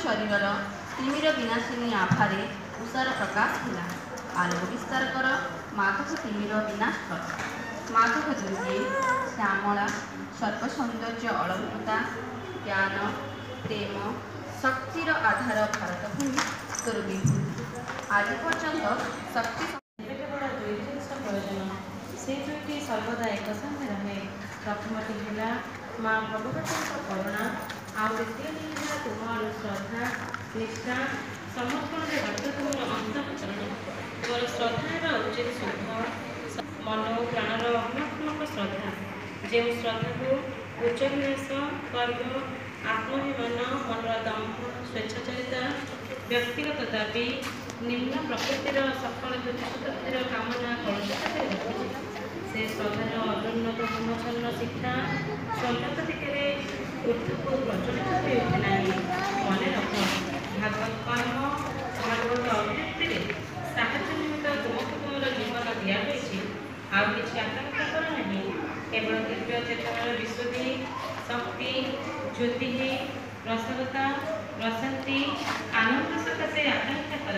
ଶରୀରର ତିମିର ବିନାଶିନୀ ଆଭାରେ ଉଷାର ପ୍ରକାଶ ହେଲା। ଆଲୋକ ବିସ୍ତାର କର ମାଧବ, ତିମିର ବିନାଶ କର ମାଧବ। ଦୁର୍ଗେ ଶ୍ୟାମଳା ସର୍ବସୌନ୍ଦର୍ଯ୍ୟ ଅଳଙ୍କୃତା, ଜ୍ଞାନ ପ୍ରେମ ଶକ୍ତିର ଆଧାର ଭାରତ ଭୂମି ତୋର ବିଭୂତି ଆଜି ପର୍ଯ୍ୟନ୍ତ ଶକ୍ତି। ଏବେ କେବଳ ଦୁଇ ଜିନିଷ ପ୍ରୟୋଜନ। ସେ ଦୁଇଟି ସର୍ବଦା ଏକ ସଙ୍ଗେ ରହେ। ପ୍ରଥମଟି ହେଲା ମା ଭଗବତୀଙ୍କ କରୁଣା, ଆଉ ଦ୍ୱିତୀୟଟି ହେଲା ତୁମ ଆଡ଼ୁ ଶ୍ରଦ୍ଧା, ନିଷ୍ଠା, ସମର୍ପଣରେ ରତ ତୁମର ଅନ୍ତଃକରଣ। ତୁମର ଶ୍ରଦ୍ଧା ହେବା ଉଚିତ ଶୁଦ୍ଧ ମନ ଓ ପ୍ରାଣର ଅଗ୍ନାତ୍ମକ ଶ୍ରଦ୍ଧା, ଯେଉଁ ଶ୍ରଦ୍ଧାକୁ ଉଚ୍ଚାଭିଳାଷ, ଗର୍ବ, ଆତ୍ମାଭିମାନ, ମନର ଦମ୍ଭ, ସ୍ୱେଚ୍ଛାଚାରିତା, ବ୍ୟକ୍ତିଗତ ଦାବି, ନିମ୍ନ ପ୍ରକୃତିର ସକଳ ତୁଚ୍ଛତୃପ୍ତିର କାମନା କଳୁଷିତ କରି ରଖିଛି। ସେ ଶ୍ରଦ୍ଧାର ଅନୁନ୍ନତ ପୂର୍ଣ୍ଣଛନ୍ନ ଶିଖା ସନ୍ନତ ଦିଗରେ ଊର୍ଦ୍ଧ୍ୱକୁ ପ୍ରଜ୍ୱଳିତ ହୋଇ ଉଠେ ନାହିଁ। ମନେ ରଖ, ଭାଗବତ କର୍ମ, ଭାଗବତ ଅଭିବ୍ୟକ୍ତିରେ ସାହାଯ୍ୟ ନିମିତ୍ତ ତୁମକୁ ତୁମର ଜୀବନ ଦିଆହୋଇଛି। ଆଉ କିଛି ଆକାଂକ୍ଷା କର ନାହିଁ। କେବଳ ଦିବ୍ୟ ଚେତନାର ବିଶୁଦ୍ଧି, ଶକ୍ତି, ଜ୍ୟୋତି, ରସଗତା, ପ୍ରଶାନ୍ତି, ଆନନ୍ଦ ସକାଶେ ଆକାଂକ୍ଷା କର,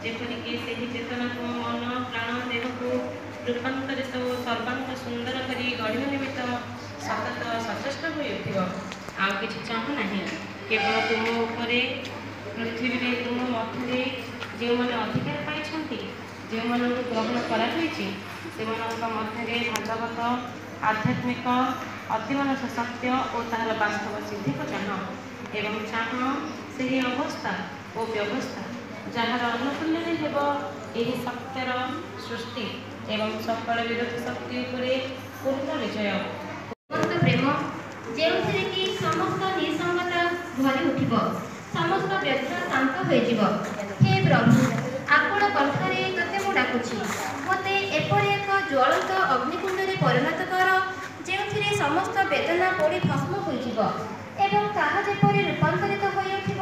ଯେପରିକି ସେହି ଚେତନା ତୁମ ମନ, ପ୍ରାଣ, ଦେହକୁ ରୂପାନ୍ତରିତ ଓ ସର୍ବାଙ୍ଗ ସୁନ୍ଦର କରି ଗଢ଼ିବା ନିମିତ୍ତ ସତତ ସଚେଷ୍ଟ ହୋଇ ଉଠିବ। ଆଉ କିଛି ଚାହଁ ନାହିଁ। କେବଳ ତୁମ ଉପରେ, ପୃଥିବୀରେ ତୁମ ମଧ୍ୟରେ ଯେଉଁମାନେ ଅଧିକାର ପାଇଛନ୍ତି, ଯେଉଁମାନଙ୍କୁ ଗ୍ରହଣ କରାଯାଇଛି, ସେମାନଙ୍କ ମଧ୍ୟରେ ଭାଗବତ ଆଧ୍ୟାତ୍ମିକ ଅତିମାନସ ସତ୍ୟ ଓ ତାହାର ବାସ୍ତବ ସିଦ୍ଧିକୁ ଚାହଁ ଏବଂ ଚାହଁ ସେହି ଅବସ୍ଥା ଓ ବ୍ୟବସ୍ଥା ଯାହାର ଅନୁକୂଲ୍ୟରେ ହେବ ଏହି ସତ୍ୟର ସୃଷ୍ଟି ଏବଂ ସକଳ ବିରୋଧୀ ଶକ୍ତି ଉପରେ ପୂର୍ଣ୍ଣ ବିଜୟ। ଜୀବନ୍ତ ପ୍ରେମ, ଯେଉଁଥିରେ କି ସମସ୍ତ ନିଃସଙ୍ଗତା ଭରି ଉଠିବ, ସମସ୍ତ ବ୍ୟଥା ଶାନ୍ତ ହୋଇଯିବ। ହେ ପ୍ରଭୁ, ଆକୁଳ କଣ୍ଠରେ ତୋତେ ମୁଁ ଡାକୁଛି। ମୋତେ ଏପରି ଏକ ଜ୍ୱଳନ୍ତ ଅଗ୍ନିକୁଣ୍ଡରେ ପରିଣତ କର, ଯେଉଁଥିରେ ସମସ୍ତ ବେଦନା ପୋଡ଼ି ଭସ୍ମ ହୋଇଯିବ ଏବଂ ତାହା ଯେପରି ରୂପାନ୍ତରିତ ହୋଇଉଠିବ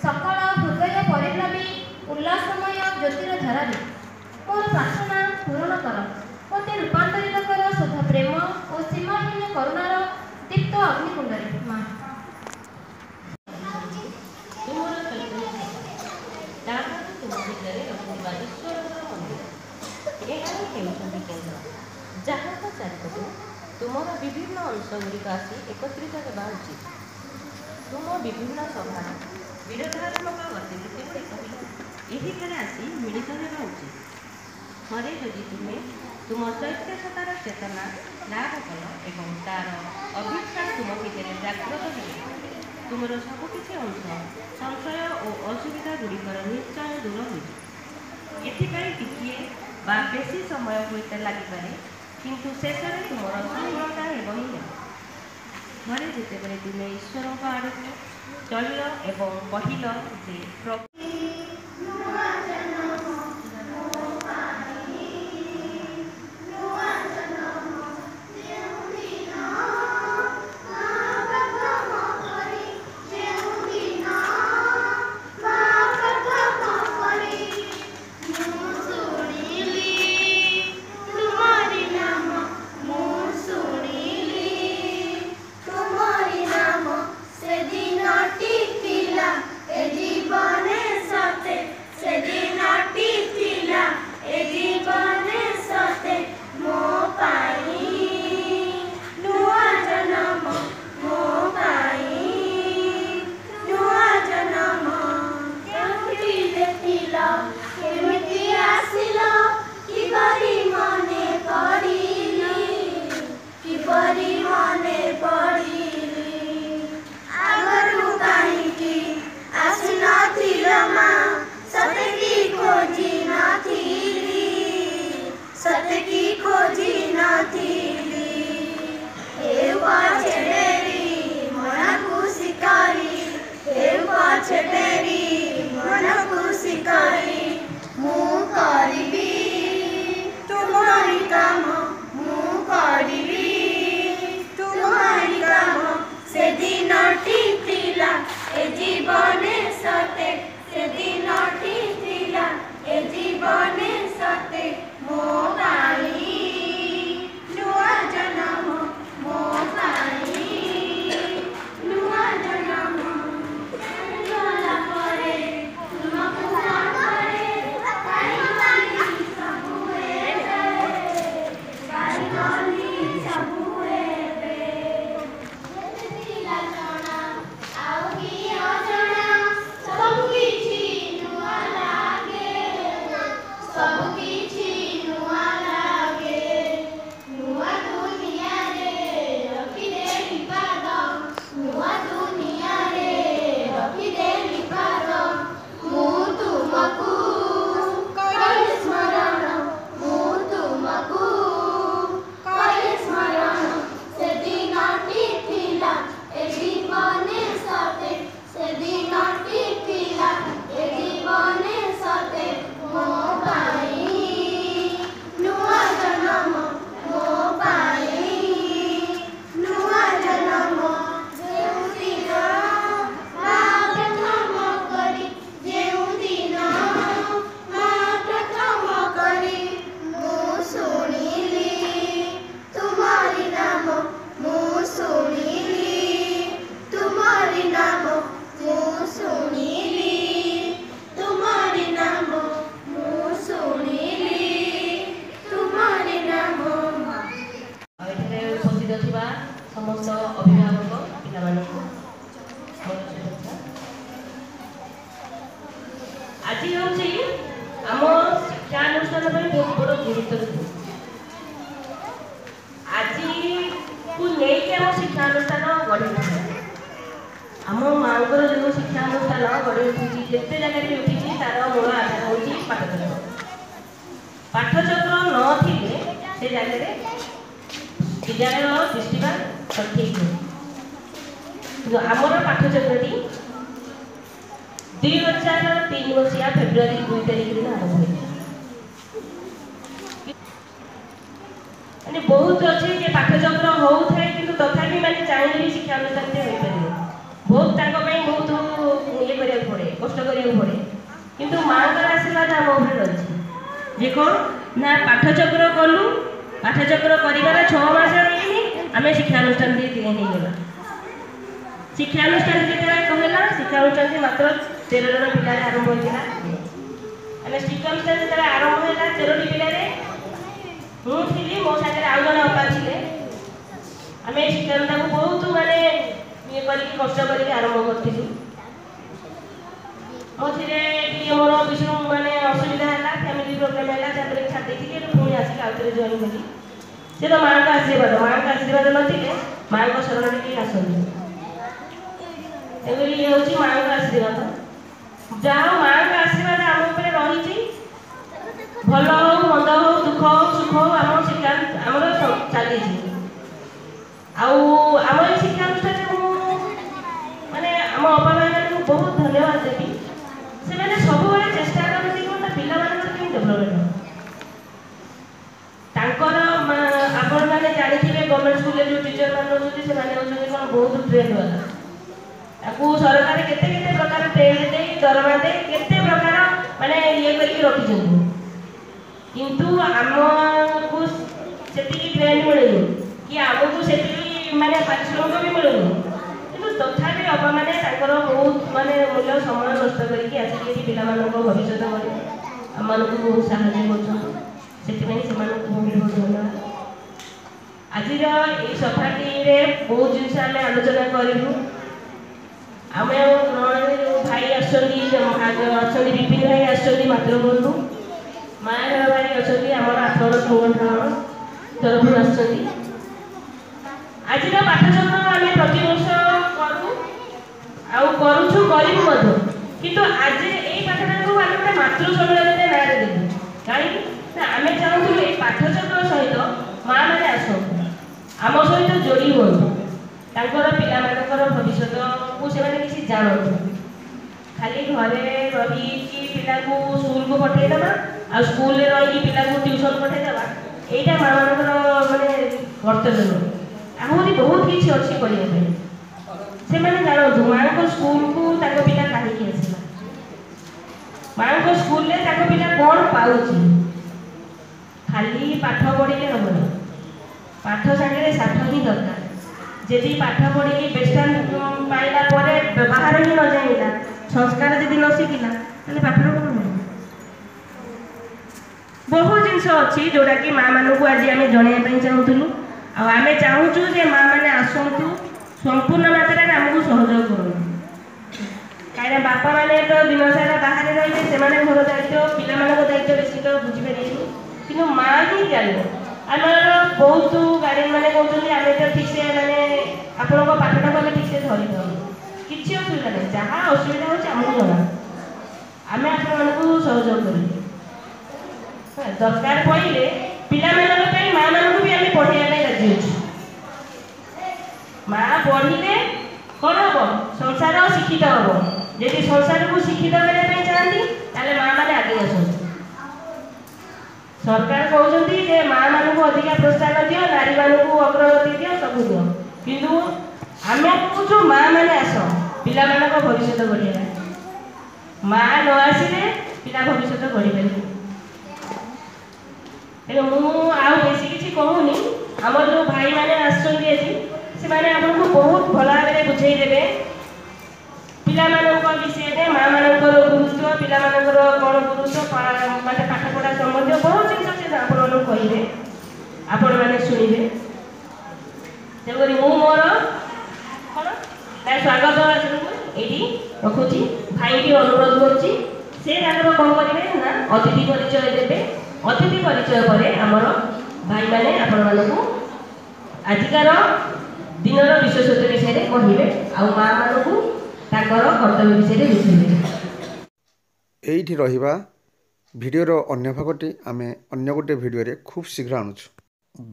ସକଳ ହୃଦୟ ପରିପ୍ଲବୀ ଉଲ୍ଲାସମୟ ଜ୍ୟୋତିର ଧାରାରେ। ମୋର ପ୍ରାର୍ଥନା ପୂରଣ କର। ମୋତେ ରୂପାନ୍ତରିତ କର ଶୁଦ୍ଧ ପ୍ରେମ ଓ ସୀମାହୀନ କରୁଣାର ଦୀପ୍ତ ଅଗ୍ନିକୁଣ୍ଡରେ, ମା। ତୁମର ଚୈତନ୍ୟ ତାହା ତୁମ ଭିତରେ ରହୁଥିବା ଈଶ୍ୱରଙ୍କର ମନ୍ଦିର। ଏହା ହିଁ ହେଉଛନ୍ତି କେନ୍ଦ୍ର, ଯାହାଙ୍କ ଚାରିପଟେ ତୁମର ବିଭିନ୍ନ ଅଂଶଗୁଡ଼ିକ ଆସି ଏକତ୍ରିତ ହେବା ଉଚିତ। ତୁମ ବିଭିନ୍ନ ସ୍ୱଭାବ, ବିରୋଧାତ୍ମକ ଗତିବୃତ୍ତିଗୁଡ଼ିକ ବି ଏହିଠାରେ ଆସି ମିଳିତ ହେବା ଉଚିତ। ଥରେ ଯଦି ତୁମେ ତୁମ ଚୈତ୍ୟସତ୍ତାର ଚେତନା ଲାଭ କଲ ଏବଂ ତାର ଅଭୀପ୍ସା ତୁମ ଭିତରେ ଜାଗ୍ରତ ହେଲେ, ତୁମର ସବୁକିଛି ଅଂଶ ସଂଶୟ ଓ ଅସୁବିଧା ଗୁଡ଼ିକର ନିଶ୍ଚୟ ଦୂର ହୋଇଯିବ। ଏଥିପାଇଁ ଟିକିଏ ବା ବେଶୀ ସମୟ ହୁଏତ ଲାଗିପାରେ, କିନ୍ତୁ ଶେଷରେ ତୁମର ସଫଳତା ହେବ ହିଁ ହେବ। ଥରେ ଯେତେବେଳେ ତୁମେ ଈଶ୍ୱରଙ୍କ ଆଡ଼କୁ ଚଳିଲ ଏବଂ କହିଲ ଯେ ପ୍ରଭୁ ନୂଆ ଜନମ ମୋ ପାଇଁ, ନୂଆ ଜନମ ଯେଉଁଦିନ ମା ପ୍ରଥମ କରି, ଯେଉଁଦିନ ମା ପ୍ରଥମ କରି ମୁଁ ଶୁଣିଲି ତୁମରି ନାମ, ମୁଁ ଶୁଣିଲି ତୁମରି ନାମ, ସେଦିନଟି ଥିଲା ଏ ଜୀବନେ ସତେ, ସେଦିନଟି ଥିଲା ଏ ଜୀବନେ ସତେ ମୋ ପାଇଁ ନୂଆ ଜନମ, ମୋ ପାଇଁ ନୂଆ ଜନମ। କେଉଁଠି ଦେଖିଲ, କେମିତି ଆସିଲ, କିପରି ମନେ ପଡ଼ିଲି, କିପରି ମନେ ପଡ଼ିଲି? ଆଗରୁ କାହିଁକି ଆସିନଥିଲ ମା? ସତେ କି ଖୋଜି ନଥିଲି, ସତେ କି ଖୋଜି ନଥିଲି? ହେଉ ପଛେ ଡେରି, ମନ ଖୁସି କରି, ହେଉ ପଛେ ଡେରି, ମନ ଖୁସି କରି ମୁଁ କରିବି ତୁମରି କାମ, ମୁଁ କରିବି ତୁମରି କାମ। ସେଦିନଟି ଥିଲା ଏ ଜୀବନେ ସତେ, ସେଦିନଟି ଥିଲା ଏ ଜୀବନେ ସତେ ମୋ ପାଇଁ ନୂଆ ଜନମ, ମୋ ପାଇଁ ନୂଆ ଜନମ। ଗଲା ଆଜି ହେଉଛି ଆମ ଶିକ୍ଷାନୁଷ୍ଠାନ ପାଇଁ ବହୁତ ବଡ଼ ଗୁରୁତ୍ୱ ଦିନ। ଆଜିକୁ ନେଇକି ଆମ ଶିକ୍ଷାନୁଷ୍ଠାନ ଗଢ଼ି ଉଠିଛି। ଆମ ମାଆଙ୍କର ଯେଉଁ ଶିକ୍ଷାନୁଷ୍ଠାନ ଗଢ଼ି ଉଠିଛି, ଯେତେ ଜାଗାରେ ବି ଉଠିଛି, ତାର ମୂଳ ଆଧାର ହେଉଛି ପାଠଚକ୍ର। ପାଠଚକ୍ର ନଥିଲେ ସେ ଜାଗାରେ ବିଦ୍ୟାଳୟ ତିଷ୍ଠିବା ସଠିକ୍ ନୁହେଁ। କିନ୍ତୁ ଆମର ପାଠଚକ୍ରଟି 2003 ମସିହା ଫେବୃଆରୀ 2 ତାରିଖ ଦିନ ଆରମ୍ଭ ହୋଇଥିଲା। ମାନେ ବହୁତ ଅଛି ଯେ ପାଠଚକ୍ର ହଉଥାଏ, କିନ୍ତୁ ତଥାପି ମାନେ ଚାହିଁଲେ ବି ଶିକ୍ଷାନୁଷ୍ଠାନଟେ ହୋଇପାରିବ। ବହୁତ ତାଙ୍କ ପାଇଁ ବହୁତ ଇଏ କରିବାକୁ ପଡ଼େ, କଷ୍ଟ କରିବାକୁ ପଡ଼େ। କିନ୍ତୁ ମାଆଙ୍କର ଆଶୀର୍ବାଦ ଆମ ଉପରେ ରହିଛି ଯେ କ'ଣ ନା ପାଠଚକ୍ର କଲୁ, ପାଠଚକ୍ର କରିବାର 6 ମାସ ହେଇନି, ଆମେ ଶିକ୍ଷାନୁଷ୍ଠାନ ହେଇଗଲା। ଶିକ୍ଷାନୁଷ୍ଠାନ ଯେତେବେଳେ କହିଲା, ଶିକ୍ଷାନୁଷ୍ଠାନଟି ମାତ୍ର 13 ଜଣ ପିଲାରେ ଆରମ୍ଭ ହୋଇଥିଲା। ଆମେ ଶିକ୍ଷାନୁଷ୍ଠାନ ଯେତେବେଳେ ଆରମ୍ଭ ହେଲା 13ଟି ପିଲାରେ, ମୁଁ ଥିଲି, ମୋ ସାଙ୍ଗରେ ଆଉ ଜଣେ ଅପା ଥିଲେ। ଆମେ ଶିକ୍ଷାନୁଷ୍ଠାନକୁ ବହୁତ ମାନେ ଇଏ କରିକି, କଷ୍ଟ କରିକି ଆରମ୍ଭ କରିଥିଲୁ। ମଝିରେ ଟିକେ ମୋର ବିଷ୍ଣୁ ମାନେ ଅସୁବିଧା ହେଲା, ଫ୍ୟାମିଲି ପ୍ରୋବ୍ଲେମ୍ ହେଲା, ତାପରେ ଛାଡ଼ି ଦେଇଥିଲି। ଏବେ ପୁଣି ଆସିକି ଆଉ ଥରେ ଜଏନ୍ କଲି। ସେ ତ ମାଆଙ୍କ ଆଶୀର୍ବାଦ, ମାଆଙ୍କ ଆଶୀର୍ବାଦ ନଥିଲେ ମାଆଙ୍କ ଶରଣରେ କେହି ଆସନ୍ତି। ତେଣୁକରି ଇଏ ହେଉଛି ମାଆଙ୍କ ଆଶୀର୍ବାଦ। ଯାହା ହଉ, ମାଆଙ୍କ ଆଶୀର୍ବାଦ ଆମ ଉପରେ ରହିଛି। ଭଲ ହଉ, ମନ୍ଦ ହଉ, ଦୁଃଖ ହଉ, ସୁଖ ହଉ, ଆମ ଶିକ୍ଷା ଆମର ଚାଲିଛି। ଆଉ ଆମ ଏଇ ଶିକ୍ଷାନୁଷ୍ଠାନରେ ମୁଁ ମାନେ ଆମ ଅପା ଭାଇମାନଙ୍କୁ ବହୁତ ଧନ୍ୟବାଦ ଦେବି। ସେମାନେ ସବୁବେଳେ ଚେଷ୍ଟା କରନ୍ତି କ'ଣ ନା ପିଲାମାନଙ୍କର କେମିତି ଡେଭଲପମେଣ୍ଟ ହେବ ତାଙ୍କର। ଆପଣମାନେ ଜାଣିଥିବେ, ଗଭର୍ଣ୍ଣମେଣ୍ଟ ସ୍କୁଲରେ ଯେଉଁ ଟିଚର ମାନେ ରହୁଛନ୍ତି, ସେମାନେ ହେଉଛନ୍ତି କ'ଣ ବହୁତ ଟ୍ରେଣ୍ଡ ବାଲା। ତାକୁ ସରକାର କେତେ କେତେ ପ୍ରକାର ଟ୍ରେଣ୍ଡ ଦେଇ, ଦରମା ଦେଇ, କେତେ ପ୍ରକାର ମାନେ ଇଏ କରିକି ରଖିଛନ୍ତି। କିନ୍ତୁ ଆମକୁ ସେତିକି ଟ୍ରେଣ୍ଡ ମିଳୁନି କି ଆମକୁ ସେତିକି ମାନେ ପାରିଶ୍ରମିକ ବି ମିଳୁନି। କିନ୍ତୁ ତଥାପି ଅପାମାନେ ତାଙ୍କର ବହୁତ ମାନେ ମୂଲ୍ୟ ସମୟ ନଷ୍ଟ କରିକି ଆସିକି ଏଠି ପିଲାମାନଙ୍କ ଭବିଷ୍ୟତ କରି ଆମମାନଙ୍କୁ ବହୁତ ସାହାଯ୍ୟ କରୁଛନ୍ତି। ସେଥିପାଇଁ ସେମାନଙ୍କୁ ବହୁତ ବହୁତ ଧନ୍ୟବାଦ। ଆଜିର ଏଇ ସଭାଟିରେ ବହୁତ ଜିନିଷ ଆମେ ଆଲୋଚନା କରିବୁ। ଆମେ ଗ୍ରହଣରେ ଯେଉଁ ଭାଇ ଆସୁଛନ୍ତି, ଅଛନ୍ତି ବିପିନ ଭାଇ ଆସୁଛନ୍ତି ମାତୃବନ୍ଧୁ, ମାୟାଧର ଭାଇ ଅଛନ୍ତି ଆମର ଆଠଗଡ଼ ସଂଗଠନ ତରଫରୁ ଆସୁଛନ୍ତି। ଆଜିର ପାଠଚକ୍ର ଆମେ ପ୍ରତିବର୍ଷ କରୁ ଆଉ କରୁଛୁ, କରିବୁ ମଧ୍ୟ। କିନ୍ତୁ ଆଜି ଏଇ ପାଠଟାକୁ ଆମେ ଗୋଟେ ମାତୃ ସମ୍ମିଳନୀରେ ନାଁରେ ଦେବୁ। କାହିଁକି ନା ଆମେ ଚାହୁଁଥିଲୁ ଏଇ ପାଠଚକ୍ର ସହିତ ମା ମାନେ ଆସନ୍ତୁ, ଆମ ସହିତ ଯୋଡ଼ି ହୁଅନ୍ତୁ, ତାଙ୍କର ପିଲାମାନଙ୍କର ଭବିଷ୍ୟତକୁ ସେମାନେ କିଛି ଜାଣନ୍ତୁ। ଖାଲି ଘରେ ରହିକି ପିଲାକୁ ସ୍କୁଲକୁ ପଠେଇଦେବା ଆଉ ସ୍କୁଲରେ ରହିକି ପିଲାକୁ ଟ୍ୟୁସନ୍ ପଠେଇଦେବା, ଏଇଟା ମା ମାନଙ୍କର ମାନେ କର୍ତ୍ତବ୍ୟ ନୁହେଁ। ଆହୁରି ବହୁତ କିଛି ଅଛି କରିବା ପାଇଁ। ସେମାନେ ଜାଣନ୍ତୁ ମାଆଙ୍କ ସ୍କୁଲକୁ ତାଙ୍କ ପିଲା କାହିଁକି ଆସିଲା, ମାଆଙ୍କ ସ୍କୁଲରେ ତାଙ୍କ ପିଲା କ'ଣ ପାଉଛି। ଖାଲି ପାଠ ପଢ଼ିଲେ ହେବନି, ପାଠ ସାଙ୍ଗରେ ସାଠ ହିଁ ଦରକାର। ଯଦି ପାଠ ପଢ଼ିକି ବେଷ୍ଟାଣ୍ଡ ପାଇଲା ପରେ ବ୍ୟବହାର ହିଁ ନ ଜାଣିଲା, ସଂସ୍କାର ଯଦି ନ ଶିଖିଲା, ତାହେଲେ ପାଠର କ'ଣ ହେବ? ବହୁତ ଜିନିଷ ଅଛି ଯେଉଁଟାକି ମାଆମାନଙ୍କୁ ଆଜି ଆମେ ଜଣାଇବା ପାଇଁ ଚାହୁଁଥିଲୁ। ଆଉ ଆମେ ଚାହୁଁଛୁ ଯେ ମାଆ ମାନେ ଆସନ୍ତୁ, ସମ୍ପୂର୍ଣ୍ଣ ମାତ୍ରାରେ ଆମକୁ ସହଯୋଗ କରନ୍ତୁ। କାହିଁକିନା ବାପାମାନେ ତ ଦିନ ସାରା ବାହାରେ ରହିବେ, ସେମାନେ ଘର ଦାୟିତ୍ୱ, ପିଲାମାନଙ୍କ ଦାୟିତ୍ୱ ବେଶୀ ତ ବୁଝିପାରିବେନି, କିନ୍ତୁ ମା ହିଁ ଜାଣିବ। ଆମର ବହୁତ ଗାର୍ଡ଼ିଆନ୍ ମାନେ କହୁଛନ୍ତି, ଆମେ ତ ଠିକ୍ସେ ମାନେ ଆପଣଙ୍କ ପାଠଟାକୁ ଆମେ ଠିକ୍ସେ ଧରିପାରୁନୁ। କିଛି ଅସୁବିଧା ନାହିଁ, ଯାହା ଅସୁବିଧା ହେଉଛି ଆମକୁ ଜଣା, ଆମେ ଆପଣମାନଙ୍କୁ ସହଯୋଗ କରିବୁ। ଦରକାର ପଡ଼ିଲେ ପିଲାମାନଙ୍କ ପାଇଁ ମାଆମାନଙ୍କୁ ବି ଆମେ ପଢ଼େଇବା ପାଇଁ ରାଜି ଅଛୁ। ମା ପଢ଼ିଲେ କ'ଣ ହବ? ସଂସାର ଶିକ୍ଷିତ ହବ। ଯଦି ସଂସାରକୁ ଶିକ୍ଷିତ କରିବା ପାଇଁ ଚାହାନ୍ତି, ତାହେଲେ ମା ମାନେ ଆଗେଇ ଆସନ୍ତୁ। ସରକାର କହୁଛନ୍ତି ଯେ ମା ମାନଙ୍କୁ ଅଧିକା ପ୍ରୋତ୍ସାହନ ଦିଅ, ନାରୀମାନଙ୍କୁ ଅଗ୍ରଗତି ଦିଅ, ସବୁ ଦିଅ। କିନ୍ତୁ ଆମେ କହୁଛୁ ମା ମାନେ ଆସ, ପିଲାମାନଙ୍କ ଭବିଷ୍ୟତ ଗଢ଼ିବା। ମା ନ ଆସିଲେ ପିଲା ଭବିଷ୍ୟତ ଗଢ଼ିପାରିବେ? ତେଣୁ ମୁଁ ଆଉ ବେଶୀ କିଛି କହୁନି। ଆମର ଯେଉଁ ଭାଇମାନେ ଆସିଛନ୍ତି ଆଜି, ସେମାନେ ଆପଣଙ୍କୁ ବହୁତ ଭଲ ଭାବରେ ବୁଝେଇ ଦେବେ ପିଲାମାନଙ୍କ ବିଷୟରେ, ମା ମାନଙ୍କର ଗୁରୁତ୍ୱ, ପିଲାମାନଙ୍କର କ'ଣ ଗୁରୁତ୍ୱ, ମାନେ ପାଠପଢ଼ା ସମ୍ବନ୍ଧୀୟ ବହୁତ ଜିନିଷ ସେ ଆପଣମାନଙ୍କୁ କହିବେ, ଆପଣମାନେ ଶୁଣିବେ। ତେଣୁକରି ମୁଁ ମୋର କ'ଣ ନା ସ୍ୱାଗତ ଭାଷଣକୁ ଏଇଠି ରଖୁଛି। ଭାଇକି ଅନୁରୋଧ କରୁଛି, ସେ ତାଙ୍କର କ'ଣ କରିବେ ନା ଅତିଥି ପରିଚୟ ଦେବେ। ଅତିଥି ପରିଚୟ ପରେ ଆମର ଭାଇମାନେ ଆପଣମାନଙ୍କୁ ଆଜିକାର ଦିନର ବିଶେଷତ୍ୱ ବିଷୟରେ କହିବେ ଆଉ ମା ମାନଙ୍କୁ ତାଙ୍କର କର୍ତ୍ତବ୍ୟ ବିଷୟରେ ବୁଝେଇବେ। ଏଇଠି ରହିବା। ଭିଡ଼ିଓର ଅନ୍ୟ ଭାଗଟି ଆମେ ଅନ୍ୟ ଗୋଟେ ଭିଡ଼ିଓରେ ଖୁବ୍ ଶୀଘ୍ର ଆଣୁଛୁ।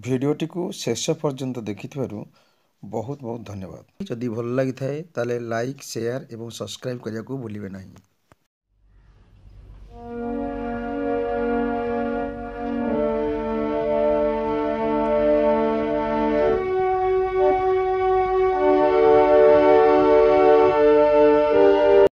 ଭିଡ଼ିଓଟିକୁ ଶେଷ ପର୍ଯ୍ୟନ୍ତ ଦେଖିଥିବାରୁ ବହୁତ ବହୁତ ଧନ୍ୟବାଦ। ଯଦି ଭଲ ଲାଗିଥାଏ, ତାହେଲେ ଲାଇକ୍, ସେୟାର ଏବଂ ସବସ୍କ୍ରାଇବ୍ କରିବାକୁ ଭୁଲିବେ ନାହିଁ।